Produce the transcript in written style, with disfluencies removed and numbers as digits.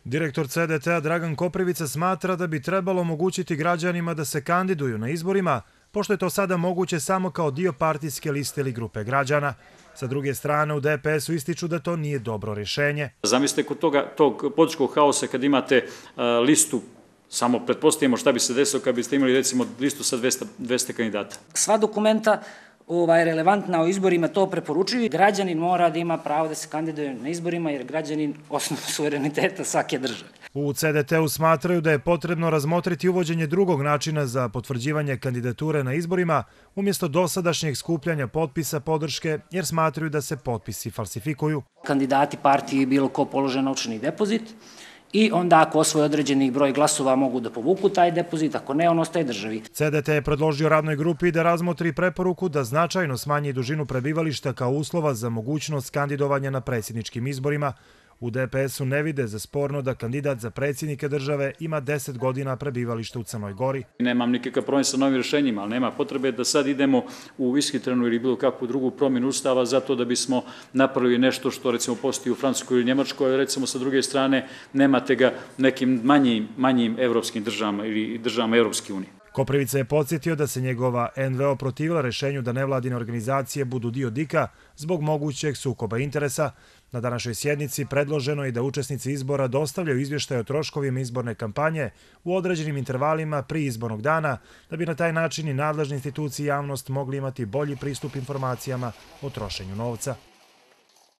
Direktor CDT-a Dragan Koprivica smatra da bi trebalo omogućiti građanima da se kandiduju na izborima, pošto je to sada moguće samo kao dio partijske liste ili grupe građana. Sa druge strane, u DPS-u ističu da to nije dobro rješenje. Zamislite kod tog političkog haosa kad imate listu, samo pretpostavimo šta bi se desilo kad biste imali recimo listu sa 200 kandidata. Sva dokumenta relevantna o izborima to preporučuju. Građanin mora da ima pravo da se kandiduje na izborima jer građanin osnov suvereniteta svake države. U CDT-u smatraju da je potrebno razmotriti uvođenje drugog načina za potvrđivanje kandidature na izborima umjesto dosadašnjeg skupljanja potpisa podrške jer smatraju da se potpisi falsifikuju. Kandidati partiji bilo ko polože novčani depozit i onda ako osvoje određeni broj glasova mogu da povuku taj depozit, ako ne on ostaje državi. CDT je predložio radnoj grupi da razmotri preporuku da značajno smanji dužinu prebivališta kao uslova za mogućnost kandidovanja na predsjedničkim izborima. U DPS-u ne vide za sporno da kandidat za predsjednike države ima 10 godina prebivališta u Crnoj Gori. Nemam nikakav problem sa novim rješenjima, ali nema potrebe da sad idemo u ishitrenu ili bilo kakvu drugu promjenu ustava zato da bismo napravili nešto što recimo postoji u Francuskoj ili Njemačkoj, recimo sa druge strane nemate ga nekim manjim evropskim državama ili državama Evropske unije. Koprivica je podsjetio da se njegova NVO protivila rješenju da nevladine organizacije budu dio DIK-a zbog mogućeg sukoba interesa. Na današnjoj sjednici predloženo je da učesnici izbora dostavljaju izvještaje o troškovima izborne kampanje u određenim intervalima prije izbornog dana, da bi na taj način i nadležne institucije i javnost mogli imati bolji pristup informacijama o trošenju novca.